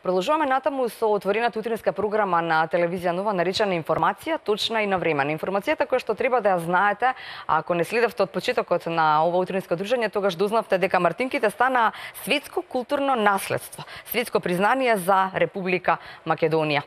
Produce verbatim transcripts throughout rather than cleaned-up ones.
Продолжуваме натаму со отворената утринска програма на телевизија Нова наречена Информација, точна и навремена. Информацијата која што треба да ја знаете, ако не следевте од почетокот на ова утринско дружење, тогаш дознавте дека мартинките стана светско културно наследство, светско признание за Република Македонија.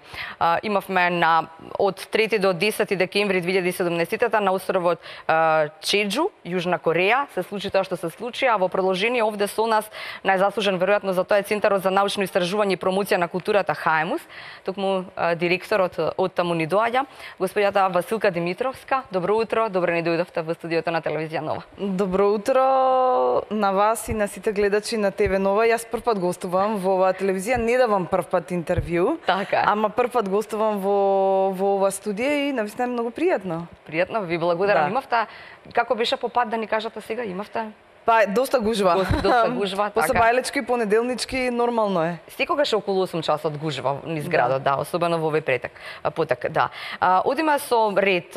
Имавме на од трети до десети декември две илјади и седумнаесетта на островот Чеџу, Јужна Кореја, се случи тоа што се случи, а во продолжение овде со нас најзаслужен веројатно за тоа е Центарот за научно истражување и промоција на културата Хаемус, токму директорот од таму ни доаѓа, господјата Василка Димитровска. Добро утро, добро ни дојдовте во студиото на телевизија Нова. Добро утро на вас и на сите гледачи на ТВ Нова. Јас првпат гостувам во оваа телевизија, не давам првпат интервју, така, ама првпат гостувам во во оваа студија и навистина е многу пријатно. Пријатно, ви благодарам. Да. Имавте, како беше по пат да ни кажете сега, имавте? Па, доста гужва. Доста гужва, така. После бајлечки, понеделнички, нормално е. Секогаш е околу осум часот гужва низ градот, да, да особено во овој претек, потек, да. А, одиме со ред.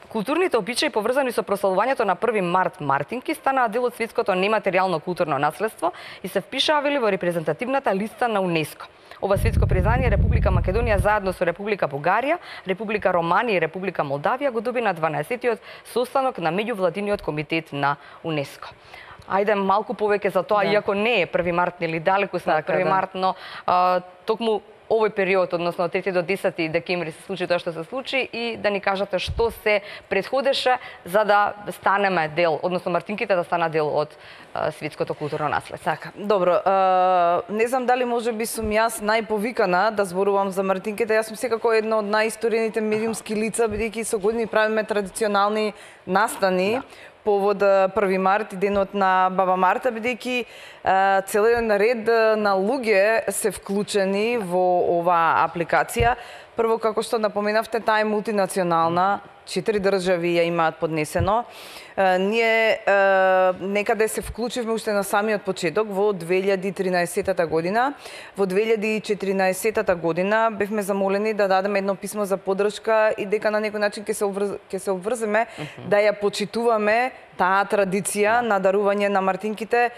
Културните обичаи поврзани со прославувањето на први март мартинки станаа дел од светското нематеријално културно наследство и се впишаа во репрезентативната листа на УНЕСКО. Ова светско признание Република Македонија заедно со Република Бугарија, Република Романија и Република Молдавија го доби на дванаесеттиот состанок на меѓувладиниот комитет на УНЕСКО. Ајде малку повеќе за тоа, да. Иако не е први март, нели далеку сме од први март, но а, токму овој период, односно од трети до десети декември се случи тоа што се случи и да ни кажете што се претходеше за да станеме дел, односно мартинките да станат дел од а, светското културно наследство. Така, добро, а, не знам дали може би сум јас најповикана да зборувам за мартинките. Јас сум секако една од најисторијните медиумски лица, бидејќи со години правиме традиционални настани. Да. Повод први март и денот на Баба Марта, бидејќи целиот ред на луѓе се вклучени во оваа апликација. Прво, како што напоменавте, таа е мултинационална, четири држави ја имаат поднесено. Ние некаде се вклучивме уште на самиот почеток во две илјади и тринаесетта година. Во две илјади и четиринаесетта година бевме замолени да дадеме едно писмо за поддршка и дека на некој начин ќе се обврз... ќе се обврземе uh -huh. да ја почитуваме таа традиција на дарување на мартинките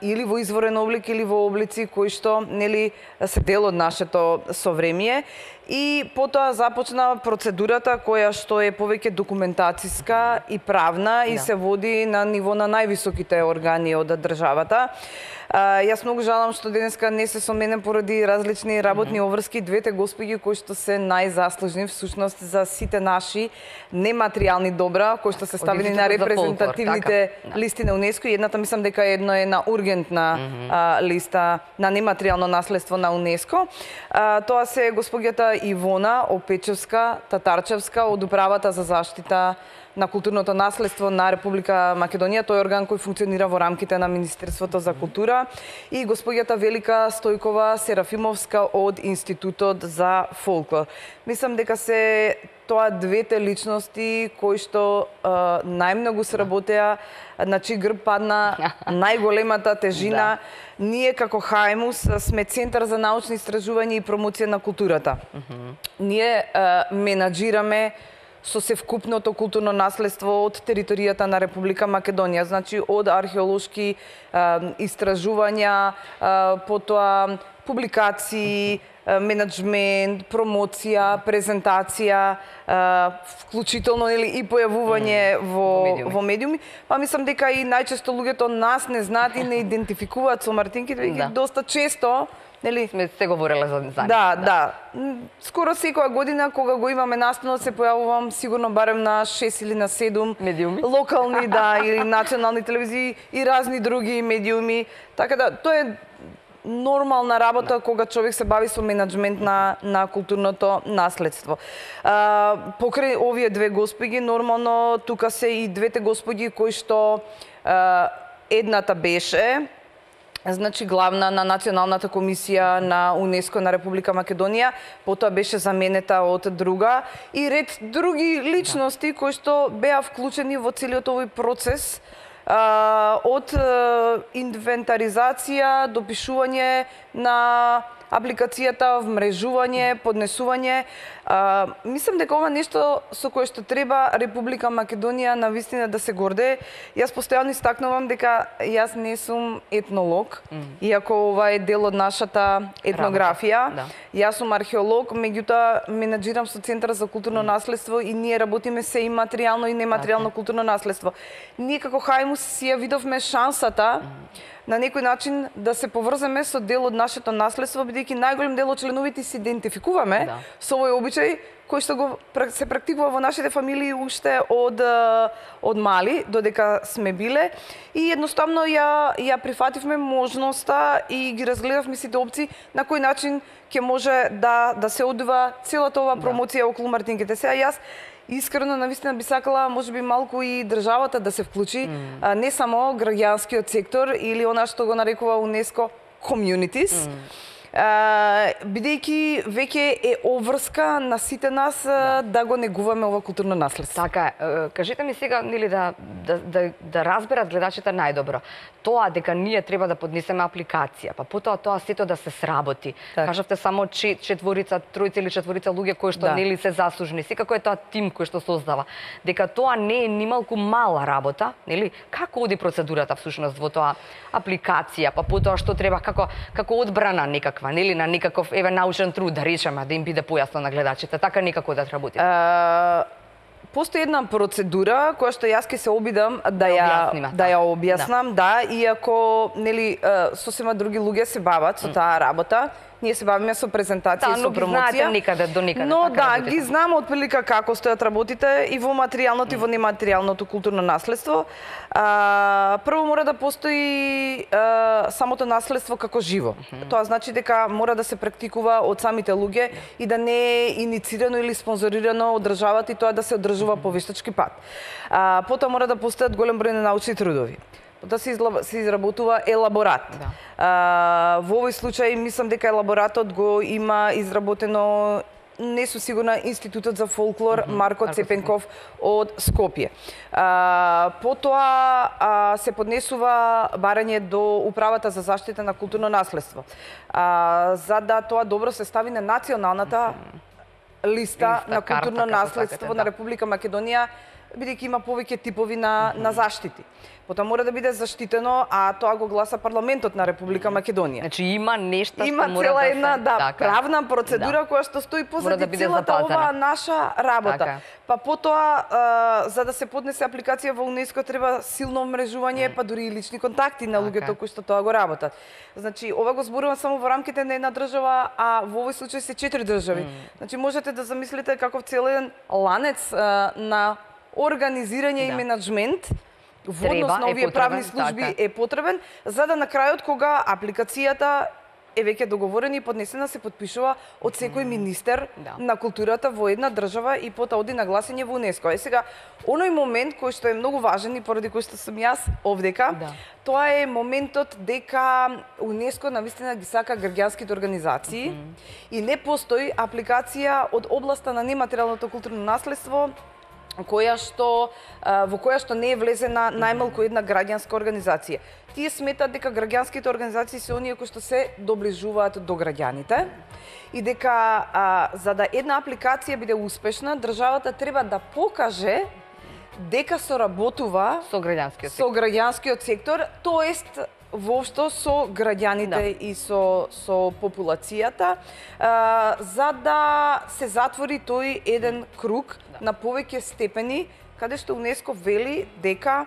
или во изворен облик или во облици кои што нели се дел од нашето совремие. И потоа започна процедурата која што е повеќе документациска и правна и да. Се води на ниво на највисоките органи од државата. А, јас многу жалам што денеска не се со мене поради различни работни обврски двете господи кои што се најзаслужни всушност за сите наши нематеријални добра кои што се ставени на репрезентативните така. Листи на УНЕСКО и едната мислам дека едно е на ургентна mm -hmm. а, листа на нематеријално наследство на УНЕСКО. А, тоа се господјата Ивона Опечевска Татарчевска од Управата за заштита на културното наследство на Република Македонија, тој е орган кој функционира во рамките на Министерството за култура, и господјата Велика Стојкова Серафимовска од Институтот за фолклор. Мислам дека се тоа двете личности кои што а, најмногу сработеа, на чиј грб падна најголемата тежина. Да. Ние како Хаемус сме Центар за научни истражувања и промоција на културата. Uh -huh. Ние а, менаџираме со севкупното културно наследство од територијата на Република Македонија, значи од археолошки а, истражувања, а, потоа публикации, менеджмент, промоција, презентација, вклучително нели и појавување во во медиуми. во медиуми. Па мислам дека и најчесто луѓето нас не знаат и не идентификуваат со мартинките, веќе да. Доста често нели сме се говореле за за Да, да. Скоро секоја година кога го имаме настанот се појавувам сигурно барем на шест или на седум медиуми, локални, да, или национални телевизии и разни други медиуми. Така да тоа е нормална работа кога човек се бави со менеджмент на на културното наследство. А, покрај овие две господи, нормално тука се и двете господи кои што а, едната беше значи главна на Националната комисија на УНЕСКО на Република Македонија, потоа беше заменета од друга и ред други личности кои што беа вклучени во целиот овој процес а, од а, инвентаризација до пишување на апликацијата, вмрежување, поднесување. А, мислам дека ова нешто со кое што треба Република Македонија навистина да се горде. Јас постојано истакнувам дека јас не сум етнолог, mm. иако ова е дел од нашата етнографија. Да. Јас сум археолог, меѓутоа менаџирам со Центар за културно mm. наследство и ние работиме се и материјално и нематеријално okay. културно наследство. Ние како Хајмус си ја видовме шансата mm. на некој начин да се поврземе со дел од нашето наследство, бидејќи најголем дел од членовите се идентификуваме да. со овој обичај кој што го се практикува во нашите фамилии уште од од мали додека сме биле и едноставно ја ја прифативме можноста и ги разгледавме сите опции на кој начин ќе може да да се одвива целата ова промоција да. околу мартинките. Сега јас искрено навистина би сакала можеби малку и државата да се вклучи, mm. а, не само граѓанскиот сектор или она што го нарекува УНЕСКО communities. Mm. бидејќи веќе е обврска на сите нас да, да го негуваме ова културно наследство. Така е. Кажете ми сега, нели да да да, да разберат гледачите најдобро. Тоа дека ние треба да поднесеме апликација, па потоа тоа сето да се сработи. Так. Кажавте само четворица, тројца или четворица луѓе кои што да. нели се заслужни. Секако е тоа тим кој што создава. Дека тоа не е нималку мала работа, нели? Како оди процедурата всушност во тоа апликација, па потоа што треба како како одбрана некаква, нели, на некаков еве научен труд да речеме, да им биде појасно на гледачите, така некако да работи. Uh... Постои една процедура која што јас ќе се обидам да ја да ја објаснам, да, да иако нели сосема други луѓе се бават со таа работа. Ние се бавиме со презентација и со промоција. Никаде до никаде. Но да, ги знам отприлика како стојат работите и во материјалното и во нематеријалното културно наследство. А, прво мора да постои а, самото наследство како живо. Mm -hmm. Тоа значи дека мора да се практикува од самите луѓе и да не е иницирано или спонзорирано од државата и тоа да се одржува mm -hmm. по вештачки пат. А, потоа мора да постојат голем број на научни трудови. Да се, изла... се изработува елаборат. Да. А, во овој случај мислам дека елаборатот го има изработено, не сум сигурна, Институтот за фолклор mm -hmm. Марко Цепенков од Скопје. А, потоа а, се поднесува барање до Управата за заштита на културно наследство. А, за да тоа добро се стави на националната mm -hmm. листа, листа на културно карта, наследство такате, на Република Македонија, бидејќи има повеќе типови на, mm -hmm. на заштити. Потоа мора да биде заштитено, а тоа го гласа парламентот на Република Македонија. Значи има нешта има што мора цела да една се... да, така. правна процедура да. која што стои позади да целата запазена. оваа наша работа. Така. Па потоа а, за да се поднесе апликација во УНЕСКО треба силно мрежување, mm. па дури и лични контакти на луѓето така. кои што тоа го работат. Значи ова го зборувам само во рамките на една држава, а во овој случај се четири држави. Mm. Значи можете да замислите каков целен ланец а, на организирање да. и менеджмент во однос на овие правни служби така. е потребен, за да на крајот кога апликацијата е веќе договорена и поднесена се подпишува од секој министер да. на културата во една држава и потоа оди на гласање во УНЕСКО. Е сега, оној момент кој што е многу важен и поради кој што сум јас овдека, да. тоа е моментот дека УНЕСКО навистина ги сака граѓанските организации mm -hmm. и не постои апликација од областа на нематеријалното културно наследство која што во која што не е влезена најмалку една граѓанска организација. Тие сметат дека граѓанските организации се оние кои што се доближуваат до граѓаните и дека а, за да една апликација биде успешна, државата треба да покаже дека соработува со граѓанскиот со граѓанскиот сектор, тоест воопшто со граѓаните да. и со со популацијата, а, за да се затвори тој еден круг да. на повеќе степени, каде што УНЕСКО вели дека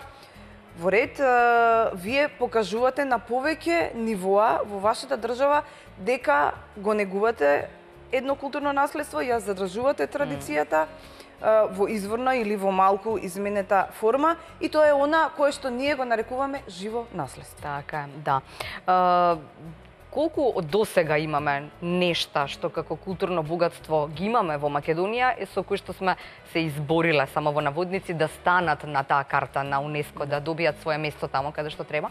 во ред а, вие покажувате на повеќе нивоа во вашата држава дека го негувате едно културно наследство, ја задржувате традицијата mm. во изворна или во малку изменета форма и тоа е она кое што ние го нарекуваме живо наследство. Така, да. Uh... Колку од досега имаме нешта што како културно богатство ги имаме во Македонија и со кои што сме се избориле само во наводници да станат на таа карта на УНЕСКО, да добијат своје место тамо каде што треба?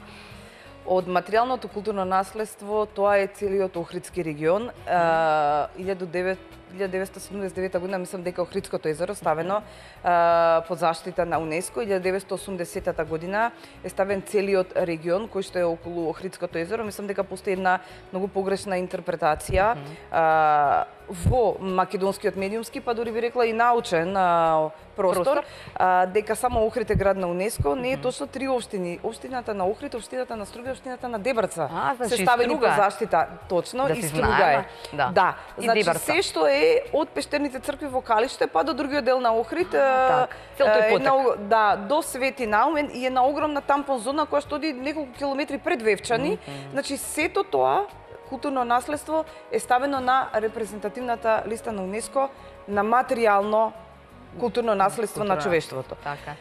Од материјалното културно наследство тоа е целиот Охридски регион. илјаду деветстотини илјада деветстотини седумдесет и девета година, мислам дека Охридското езеро ставено а, под заштита на УНЕСКО. илјада деветстотини осумдесета година е ставен целиот регион кој што е околу Охридското езеро. Мислам дека постои една многу погрешна интерпретација mm -hmm. а, во македонскиот медиумски, па дури би рекла и научен а, простор, простор? А, дека само Охрид е град на УНЕСКО. Не е точно три општини. Општината на Охрид, општината на Струга, општината на Дебрца а, значи, се ставени Струга. под заштита. Точно, Да и си Струга знаеме. е. Да. Да. Значи Дебрца. се што е од Пештерните цркви во Калиште па до другиот дел на Охрид, так. Цел тој една, потек. да, до Свети Наумен и една огромна тампон зона која што оди неколку километри пред Вевчани. Mm -hmm. Значи сето тоа културно наследство е ставено на репрезентативната листа на УНЕСКО на материјално културно наследство Културно. на човештвото. Така.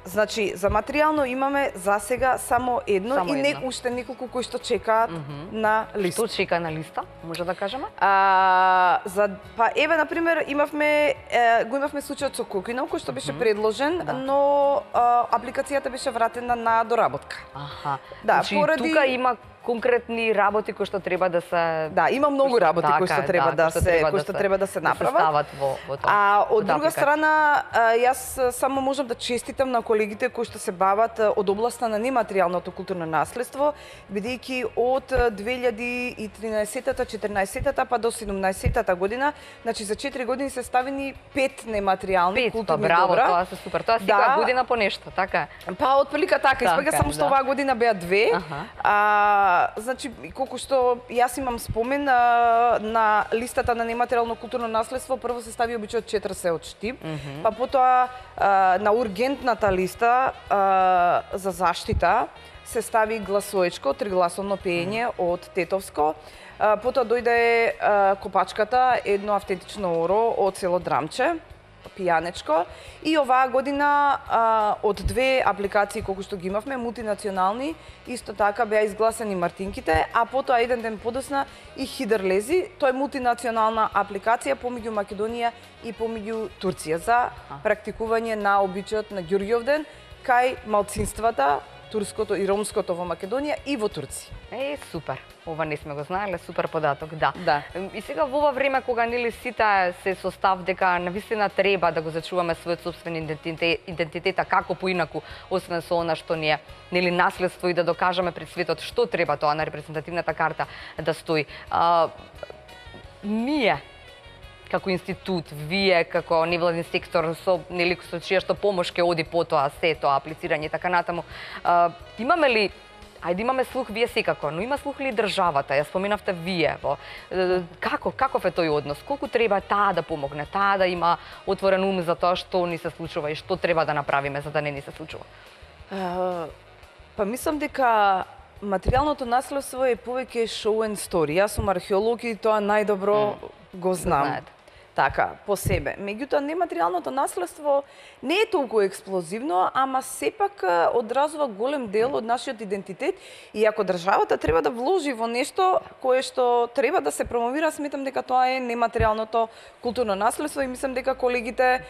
Значи, за материјално имаме за сега само едно Само и не едно. уште неколку кои што чекаат mm -hmm. на листа. Што чека на листа, може да кажеме? А, за, па еве, например, имавме, е, го имавме случајот со Кокинов, кој што беше mm -hmm. предложен, да. но а, апликацијата беше вратена на доработка. Аха. Да, значи, поради... тука има конкретни работи кои што треба да се Да, има многу работи така, кои што треба да, кои што се треба кои да што се- треба да се да се направат. стават во во тоа. А во од таа друга апликација. страна, а, јас само можам да честитам на колегите кои што се бават а, од областа на нематеријалното културно наследство, бидејќи од две илјади и тринаесетта, четирнаесетта па до седумнаесетта година, значи за четири години се ставени пет нематеријални Пет, па културни браво, добра. тоа се супер. Тоа Да. секоја година по нешто, така е. Па отприлика така, испаѓа Така, само што да. оваа година беа две. Аха. А, значи колку што јас имам спомен а, на листата на нематеријално културно наследство, прво се стави обичајот Четир се од Штип, Mm -hmm. па потоа а, на ургентната листа а, за заштита се стави Гласоечко, тригласовно пеење од Тетовско. А, потоа дојде а, Копачката, едно автентично оро од село Драмче, пијанечко. И оваа година а, од две апликации колку што ги имавме, мултинационални, исто така беа изгласани Мартинките, а потоа еден ден подосна и Хидрлези. Тоа е мултинационална апликација помеѓу Македонија и помеѓу Турција за практикување на обичајот на Ѓурѓовден кај малцинствата турското и ромското во Македонија и во Турција. Е, супер. Ова не сме го знаеле, супер податок, да. Да. И сега во ова време кога нели сите се со став дека навистина треба да го зачуваме својот собствен идентитет, идентитета како поинаку, освен со она што ни е нели наследство и да докажеме пред светот што треба тоа на репрезентативната карта да стои. А, ние како институт, вие како невладин сектор со нели со чија што помош ќе оди потоа се тоа аплицирање и така натаму. А, имаме ли Ајде имаме слух вие секако, но има слух ли државата? Ја споменавте вие во е, како каков е тој однос? Колку треба таа да помогне, таа да има отворен ум за тоа што ни се случува и што треба да направиме за да не ни се случува? А, па мислам дека материјалното наследство е повеќе show and story. Јас сум археолог и тоа најдобро mm. го знам. знаете. Така, по себе. Меѓутоа, нематеријалното наследство не е толку експлозивно, ама сепак а, одразува голем дел од нашиот идентитет и ако државата треба да вложи во нешто кое што треба да се промовира, сметам дека тоа е нематеријалното културно наследство и мислам дека колегите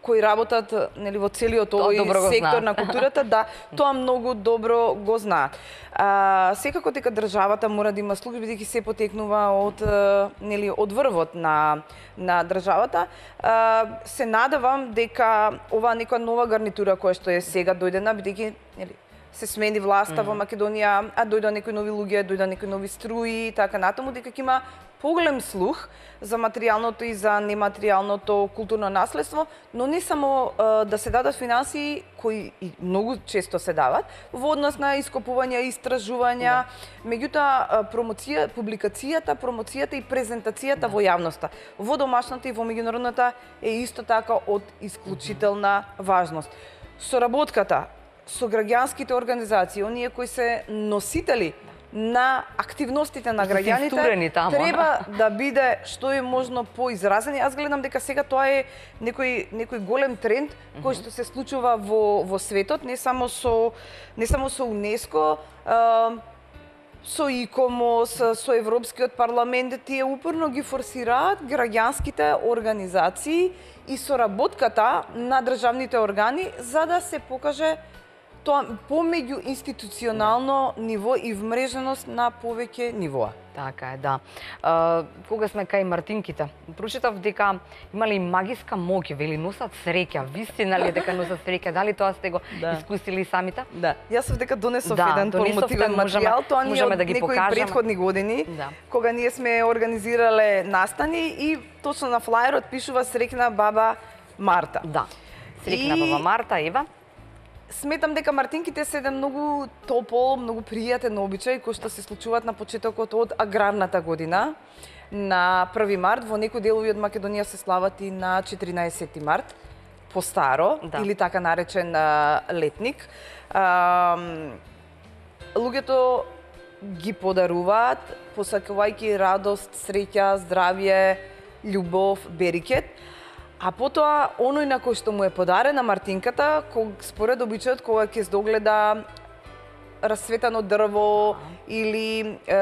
кои работат нели во целиот Тоа добро овој го сектор знаат. на културата, да, тоа многу добро го знаат. А, секако дека државата мора да има слух, бидејќи се потекнува од а, нели од врвот на на државата. А, се надевам дека оваа некоја нова гарнитура која што е сега дојдена, бидејќи нели се смени власта mm. во Македонија, а дојдоа некои нови луѓе, дојдоа некои нови струи и така натаму, дека ќе има поголем слух за материјалното и за нематеријалното културно наследство, но не само а, да се дадат финансии кои и многу често се дават во однос на ископувања, истражувања, меѓутоа промоција, публикацијата, промоцијата и презентацијата во јавноста, во домашната и во меѓународната е исто така од исклучителна важност. Соработката со граѓанските организации, оние кои се носители на активностите на граѓаните таму. треба да биде што е можно поизразен. Јас гледам дека сега тоа е некој некој голем тренд кој што се случува во во светот, не само со не само со УНЕСКО, а, со ИКОМОС, со Европскиот парламент, тие упорно ги форсираат граѓанските организации и соработката на државните органи за да се покаже тоа помеѓу институционално ниво и вмреженост на повеќе нивоа. Така е, да. А, кога сме кај мартинките, прочитав дека имали магиска моќ, вели носат среќа. Вистина ли е дека носат среќа? Дали тоа сте го Да. искусили самите? Да, јас сов дека донесов Да, еден донесовте, промотивен можеме- материјал, тоа ни е можеме од да ги некои покажеме. претходни години, Да. кога ние сме организирале настани и точно на флаерот пишува среќна баба Марта. Да. Среќна И- баба Марта, Ева. Сметам дека мартинките се еден многу топол, многу пријатен обичај кој што се случуваат на почетокот од аграрната година. На први март, во некои делови од Македонија се слават и на четиринаесети март, по старо, Да. или така наречен а, летник. А, луѓето ги подаруваат, посакувајќи радост, среќа, здравје, љубов, берикет. А потоа, оној на кој што му е подарена мартинката, ког, според обичајот, кога ќе здогледа расцветано дрво или е,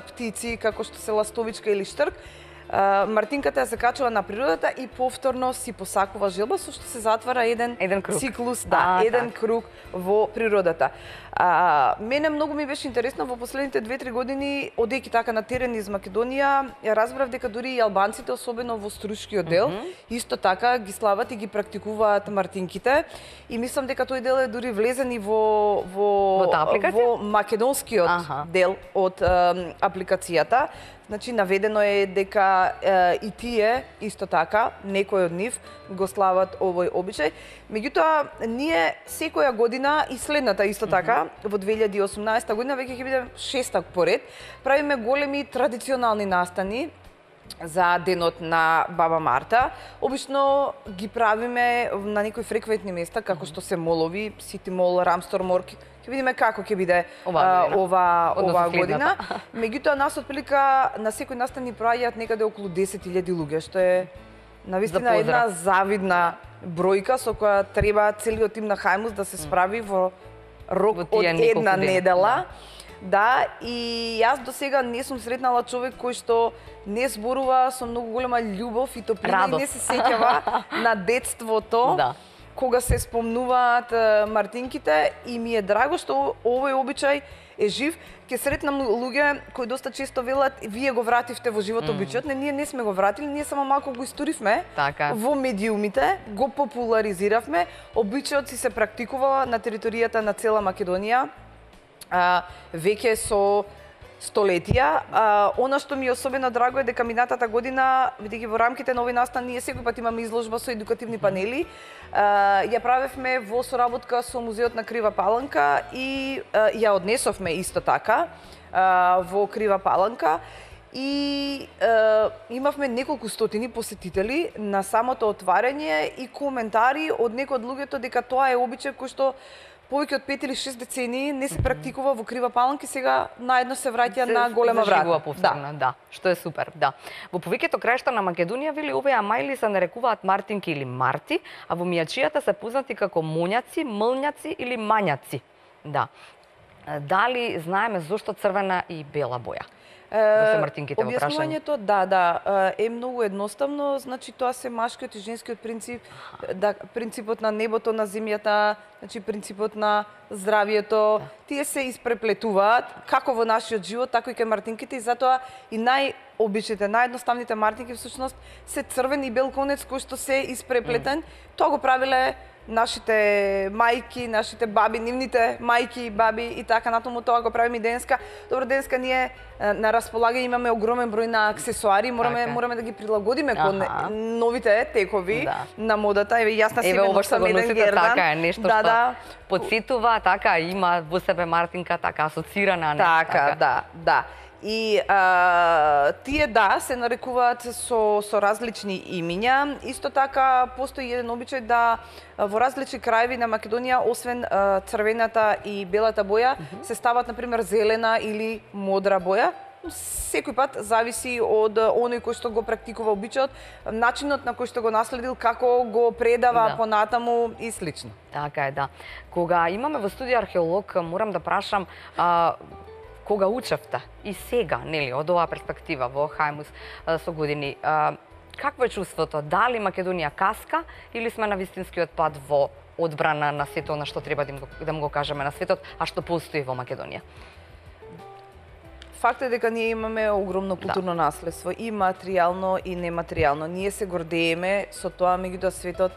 птици, како што се ластовичка или штрк, е, мартинката ја се качува на природата и повторно си посакува желба, со што се затвара еден, Еден круг. циклус, да, А, еден така. круг во природата. А, мене многу ми беше интересно во последните две-три години, одејќи така на терен из Македонија, ја разбрав дека дури и албанците, особено во струшкиот дел, mm -hmm. исто така ги слават и ги практикуваат мартинките. И мислам дека тој дел е дури влезен и во во Во таа апликација? во македонскиот Аха. дел од е, апликацијата. Значи, наведено е дека е, и тие, исто така, некои од нив го слават овој обичај. Меѓутоа, ние секоја година и следната исто така, во две илјади и осумнаесета година, веќе ќе биде шеста поред, правиме големи традиционални настани за денот на баба Марта. Обично ги правиме на некои фреквентни места, како што се молови, Сити мол, Рамстормор. Ќе видиме како ќе биде Оваа а, година. ова, Односно ова следната. година. Меѓутоа, нас отприлика на секој настан ни проаѓаат некаде околу десет илјади луѓе, што е навистина За една поздрав. завидна бројка со која треба целиот тим на Хајмус да се справи во рок Во од тие неколку една дена. недела. Да, и јас до сега не сум сретнала човек кој што не зборува со многу голема љубов и топлина и не Радост. се сеќава на детството. Да. Кога се спомнуваат е, мартинките, и ми е драго што овој обичај е жив. Ке сретнам луѓе кои доста често велат вие го вративте во живот обичајот. Не, ние не сме го вратили, ние само малку го историвме Така. во медиумите, го популаризиравме. Обичајот си се практикува на територијата на цела Македонија. А, веќе со столетија. А, она што ми е особено драго е дека минатата година, бидејќи во рамките на овој настан ние секој пат имаме изложба со едукативни панели, а, ја правевме во соработка со Музеот на Крива Паланка и а, ја однесовме исто така а, во Крива Паланка. И е, имавме неколку стотини посетители на самото отварање и коментари од некои од луѓето дека тоа е обичај кој што повеќе од пет или шест децении не се практикува во Крива Паланка и сега наедно се враќа на голема заживува врата. повторно, да. Што е супер, да. Во повеќето краишта на Македонија вели овие амајли се нарекуваат мартинки или марти, а во мијачијата се познати како моњаци, млњаци или мањаци. Да. Дали знаеме зошто црвена и бела боја? Во се мартинките во прашање. Објаснувањето, да, да, е многу едноставно, значи тоа се машкиот и женскиот принцип, да, принципот на небото, на земјата, значи принципот на здравието, да. Тие се испреплетуваат како во нашиот живот, така и кај мартинките и затоа и најобичните, наједноставните мартинки всушност се црвен и бел конец кој што се испреплетен. Mm. Тоа го правиле нашите мајки, нашите баби, нивните мајки и баби и така натаму, тоа го правиме и денеска. Добро, денеска ние на располагање имаме огромен број на аксесуари, мораме така. мораме да ги прилагодиме кон Аха. новите текови Да. на модата. Еве јас на себе Еве ова што носам го еден носите, гердан. така е нешто да, што да. подсетува, така има во себе мартинка, така асоцирана, не? Така, да, да. И а, тие да се нарекуваат со со различни имиња. Исто така постои еден обичај да а, во различни краеви на Македонија освен а, црвената и белата боја mm -hmm. се стават на пример зелена или модра боја. Секој пат зависи од оној кој што го практикува обичајот, начинот на кој што го наследил, како го предава Да. понатаму и слично. Така е, да. Кога имаме во студија археолог, морам да прашам, а, кога учевте и сега, нели, од оваа перспектива во Хајмус а, со години, а, какво е чувството? Дали Македонија каска или сме на вистинскиот пат во одбрана на сето на што треба да им го, да му го кажеме на светот, а што постои во Македонија? Факт е дека ние имаме огромно културно да. наследство, и материјално и нематеријално. Ние се гордееме со тоа, меѓутоа светот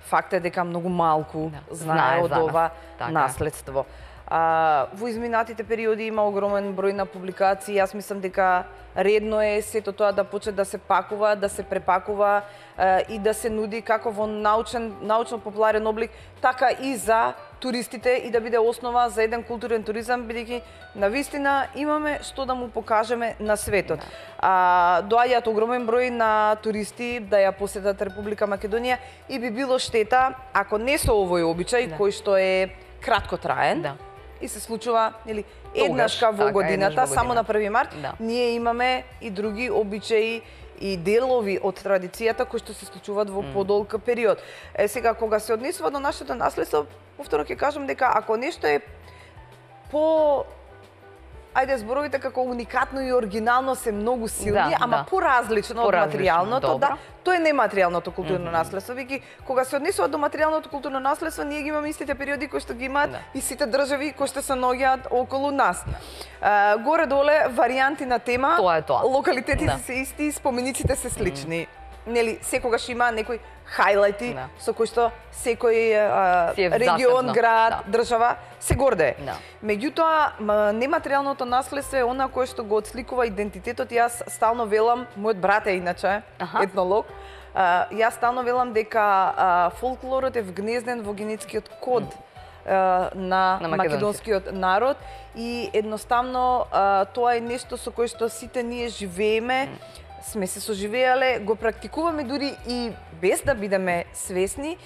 факт е дека многу малку да. знае, знае од ова така. наследство. А, во изминатите периоди има огромен број на публикации. Јас мислам дека редно е сето тоа да почне да се пакува, да се препакува а, и да се нуди како во научен, научно-популарен облик, така и за туристите и да биде основа за еден културен туризам, бидејќи навистина имаме што да му покажеме на светот. Да. А, доаѓаат огромен број на туристи да ја посетат Република Македонија и би било штета ако не со овој обичај да. кој што е краткотраен. Да. И се случува, нели, еднашка во годината, еднаш во само на први март, да. ние имаме и други обичаи и делови од традицијата кои што се случуваат во mm. подолг период. Е, сега, кога се однесува до нашето наследство, повторно ќе кажам дека ако нешто е по... Ајде, зборовите како уникатно и оригинално се многу силни, да, ама да. поразлично од материјалното, да, тоа е нематеријалното културно mm -hmm. наследство. Веќе кога се однесува до материјалното културно наследство, ние ги имаме истите периоди кои што ги имаат да. и сите држави кои што се наоѓаат околу нас. Да. Горе-доле варијанти на тема, тоа е тоа. Локалитетите да. се исти, спомениците се слични. Mm -hmm. Нели, секогаш има некои хајлајти да. со кои што секој а, регион, град, да. држава се гордее. Да. Меѓутоа, нематеријалното наследство е она кое што го отсликува идентитетот. Јас стално велам, мојот брат е иначе Аха. етнолог, а, јас стално велам дека а, фолклорот е вгнезден во генетскиот код mm. а, на, на македонскиот народ и едноставно а, тоа е нешто со кое што сите ние живееме, mm. сме се соживеале, го практикуваме дури и без да бидеме свесни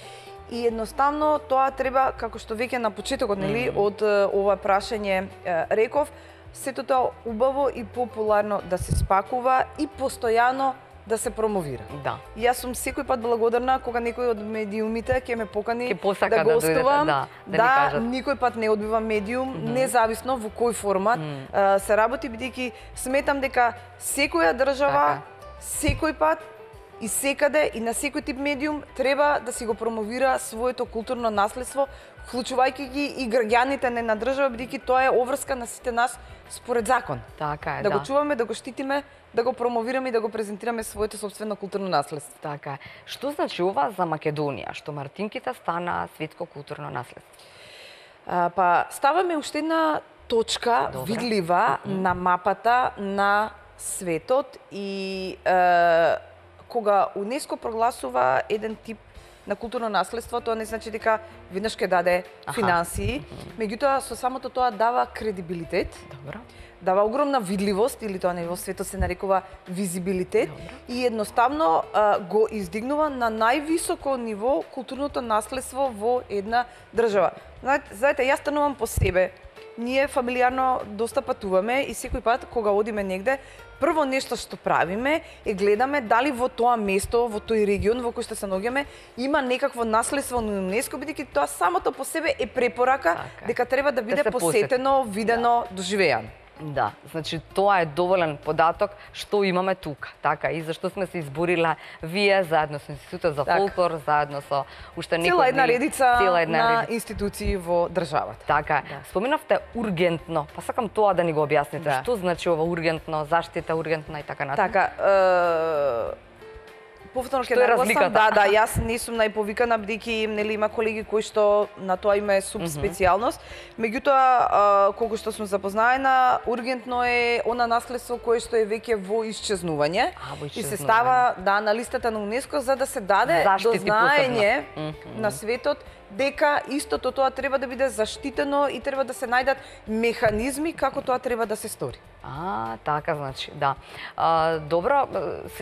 и едноставно тоа треба, како што веќе на почетокот, нели, од ова прашање реков, сето тоа убаво и популарно да се спакува и постојано да се промовира. Да. И јас сум секој пат благодарна кога некој од медиумите ќе ме покани ќе да гостувам, да, да, да, да никој пат не одбивам медиум, mm -hmm. независно во кој формат mm -hmm. се работи, бидејќи сметам дека секоја држава, така. секој пат и секаде и на секој тип медиум треба да си го промовира своето културно наследство, вклучувајќи ги и граѓаните на држава, бидејќи тоа е обврска на сите нас според закон. Така е, да. Да го чуваме, да го штитиме, да го промовираме и да го презентираме своето собствено културно наследство. Така е. Што значи ова за Македонија, што Мартинките стана светско културно наследство? А, па ставаме уште една точка Добре. видлива mm -hmm. на мапата на светот и е, кога УНЕСКО прогласува еден тип на културно наследство, тоа не значи дека веднаш ќе даде финансии, меѓутоа со самото тоа дава кредибилитет. Добро. Дава огромна видливост, или тоа во светот се нарекува визибилитет. Добро. И едноставно а, го издигнува на највисоко ниво културното наследство во една држава. Знаете, знаете, јас станувам по себе. Ние фамилиарно доста патуваме и секој пат кога одиме негде, прво нешто што правиме е гледаме дали во тоа место, во тој регион во кој што се наоѓаме, има некакво наследство на ЮНЕСКО, бидејќи тоа самото по себе е препорака така, дека треба да биде да посетено, видено, да. доживеано. Да, значи тоа е доволен податок што имаме тука, така, и зашто сме се изборила вие заедно со Институтот за фолклор, так. заедно со уште некои цела една редица цела една на редица. институции во државата. Така, да. Споменавте ургентно, па сакам тоа да ни го објасните. Да. Што значи ова ургентно, заштита ургентна и така натаму? Така, е... повторно ќе нагласам, да, да, јас не сум најповикана, бидејќи нели има колеги кои што на тоа има субспецијалност. Меѓутоа, колку што сум запознаена, ургентно е она наследство кое што е веќе во исчезнување и се става да на листата на УНЕСКО за да се даде до знаење на светот дека истото тоа треба да биде заштитено и треба да се најдат механизми како тоа треба да се стори. А, така значи, да. А, добро,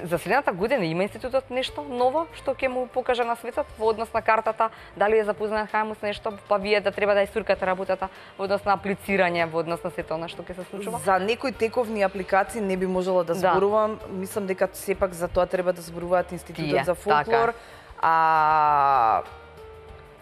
за следната година има институтот нешто ново што ќе му покаже на светот во однос на картата, дали е запознаен хајмус нешто, па вие да треба да истуркате работата во однос на аплицирање, во однос на сето она што ќе се случува? За некои тековни апликации не би можела да зборувам, да. Мислам дека сепак за тоа треба да зборуваат Институтот Тие, за фолклор, така. а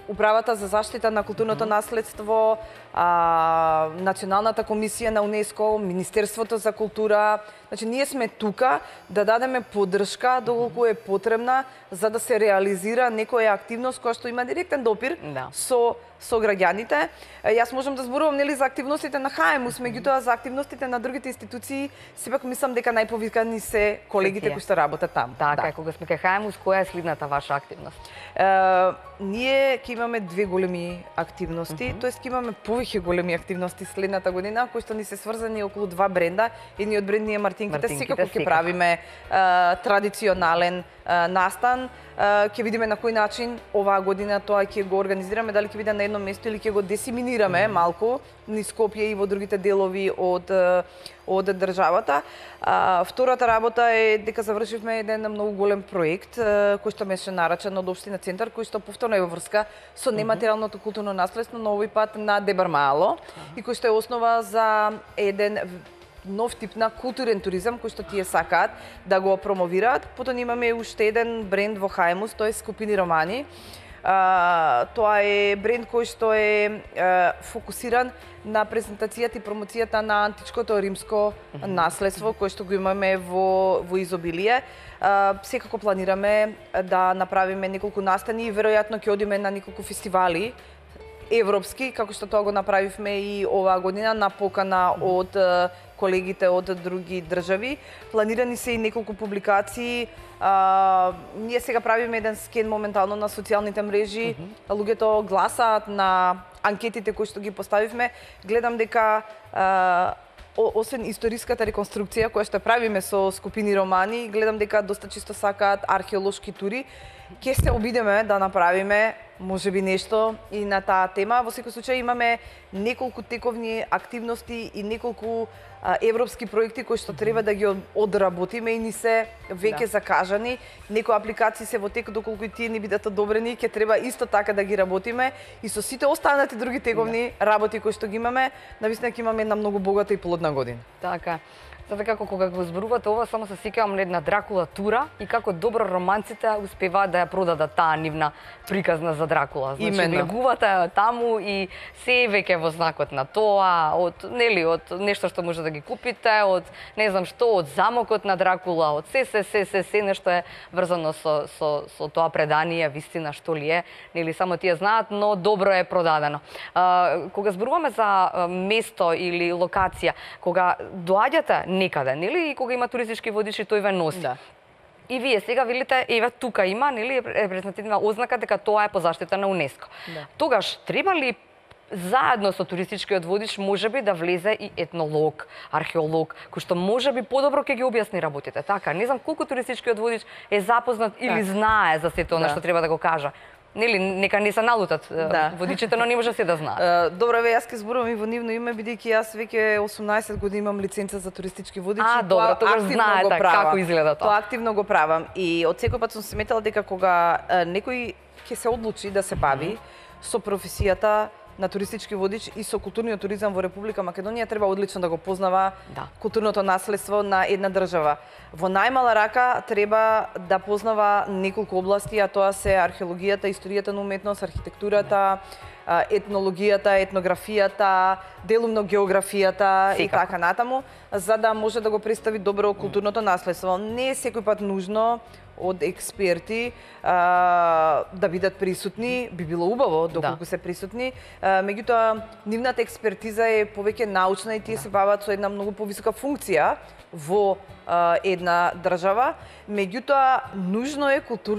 Управата за заштита на културното mm -hmm. наследство а, Националната комисија на УНЕСКО, Министерството за култура. Значи, ние сме тука да дадеме поддршка доколку е потребна за да се реализира некоја активност која што има директен допир Да. со со граѓаните. Јас можам да зборувам нели за активностите на ХАЕМУС, меѓутоа за активностите на другите институции сепак мислам дека најповикани се колегите кои што работат таму. Така, Да. е, кога сме кај ХАЕМУС, која е следната ваша активност? Е, ние ќе имаме две големи активности, mm -hmm. тоест ќе имаме повеќе големи активности следната година, кои што ни се сврзани околу два бренда. Едниот бренд ни е Мартинките, Мартинките, секако ќе секако. правиме е, традиционален е, настан. Е, ќе видиме на кој начин оваа година тоа ќе го организираме, дали ќе биде на едно место или ќе го десиминираме mm -hmm. малку низ Скопје и во другите делови од од државата. А, втората работа е дека завршивме еден многу голем проект кој што беше нарачен од Општина Центар, кој што повторно е во врска со нематеријалното културно наследство на овој пат на Дебармало и кој што е основа за еден нов тип на културен туризам кој што тие сакаат да го промовираат. Потоа имаме уште еден бренд во ХАЕМУС, тој е Скопини романи. Uh, тоа е бренд кој што е uh, фокусиран на презентацијата и промоцијата на античкото римско наследство кој што го имаме во во изобилие. Uh, секако планираме да направиме неколку настани и веројатно ќе одиме на неколку фестивали европски, како што тоа го направивме и оваа година на покана од uh, колегите од други држави. Планирани се и неколку публикации. А, ние сега правиме еден скен моментално на социјалните мрежи. Mm -hmm. Луѓето гласаат на анкетите кои што ги поставивме. Гледам дека а, освен историската реконструкција која што правиме со Скопини романи, гледам дека доста чисто сакаат археолошки тури. Ќе се обидеме да направиме можеби нешто и на таа тема. Во секој случај имаме неколку тековни активности и неколку а, европски проекти кои што треба да ги одработиме и ни се веќе да. закажани. Некои апликации се во тек, доколку и тие ни бидат одобрени, ќе треба исто така да ги работиме и со сите останати други тековни да. работи кои што ги имаме, навистина ќе имаме една многу богата и плодна година. Така. Затоа како кога го зборувате ова, само се сеќавам на една Дракула тура и како добро романците успеваат да ја продадат таа нивна приказна за Дракула. Значи, Именно. влегувате таму и се веќе во знакот на тоа, од нели од нешто што може да ги купите, од не знам што, од замокот на Дракула, од се се се се се нешто е врзано со со со тоа предание, вистина што ли е, нели само тие знаат, но добро е продадено. А, кога зборуваме за место или локација, кога доаѓате некаде, нели, и кога има туристички водичи, тој ве носи. Да. И вие сега велите, еве тука има, нели, репрезентативна ознака дека тоа е по заштита на УНЕСКО. Да. Тогаш треба ли заедно со туристичкиот водич можеби да влезе и етнолог, археолог, кој што можеби подобро ќе ги објасни работите. Така, не знам колку туристичкиот водич е запознат или так. знае за сето она Да. што треба да го кажа. Нели, нека не се налутат Да. водичите, но не може се да знаат. Uh, добро, ве, јас ќе зборувам и во нивно име, бидејќи јас веќе осумнаесет години имам лиценца за туристички водичи. А, добро, тогаш знаете како изгледа тоа. Тоа активно го правам. И од секој пат сум сметала дека кога uh, некој ќе се одлучи да се бави mm -hmm. со професијата на туристички водич и со културниот туризам во Република Македонија, треба одлично да го познава Да. културното наследство на една држава. Во најмала рака треба да познава неколку области, а тоа се археологијата, историјата на уметност, архитектурата, етнологијата, етнографијата, делумно географијата и така натаму, за да може да го представи добро културното наследство. Не е секој пат нужно од експерти а, да бидат присутни, би било убаво доколку да. се присутни. А, меѓутоа, нивната експертиза е повеќе научна и тие да. се бават со една многу повисока функција во а, една држава. Меѓутоа, нужно е култур...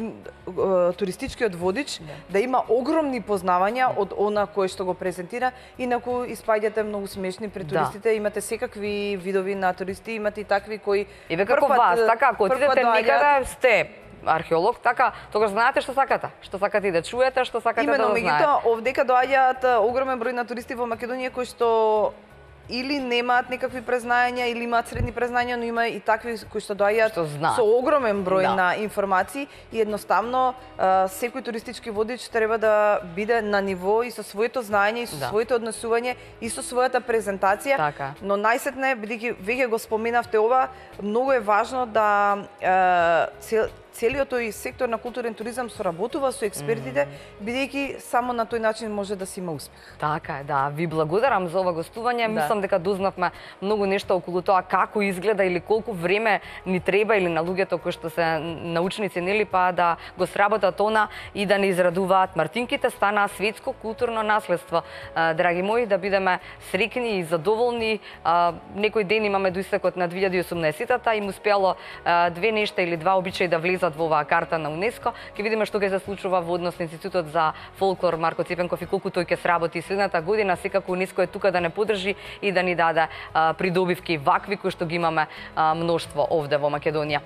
туристичкиот водич да. да има огромни познавања од она кој што го презентира, инаку испаѓате многу смешни пред туристите. Да. Имате секакви видови на туристи, имате и такви кои Еве како вас, така, ако отидете некаде, сте археолог, така, тогаш знаете што сакате, што сакате и да чуете, што сакате Именно, да знаете. Именно, меѓутоа, овдека доаѓаат огромен број на туристи во Македонија кои што или немаат никакви презнања, или имаат средни презнања, но има и такви кои што доаѓаат со огромен број да. на информации и едноставно секој туристички водич треба да биде на ниво и со своето знаење, и со да. своето однесување, и со својата презентација. Така. Но најсетне, бидејќи веќе го споменавте ова, многу е важно да цел, целиот тој сектор на културен туризам соработува со експертите, бидејќи само на тој начин може да си има успех. Така е, да. Ви благодарам за ова гостување. Да. Мислам дека дознавме многу нешто околу тоа како изгледа или колку време ни треба или на луѓето кои што се научници, нели, па да го сработат она и да не израдуваат мартинките, станаа светско културно наследство. Драги мои, да бидеме среќни и задоволни. Некој ден имаме до истекот на две илјади и осумнаесетта им успело две нешта или два обичаи да влезат во оваа карта на УНЕСКО. Ќе видиме што ќе се случува во однос на Институтот за фолклор Марко Ципенков и колку тој ќе сработи следната година. Секако УНЕСКО е тука да не подржи и да ни даде придобивки вакви кои што ги имаме мноштво овде во Македонија.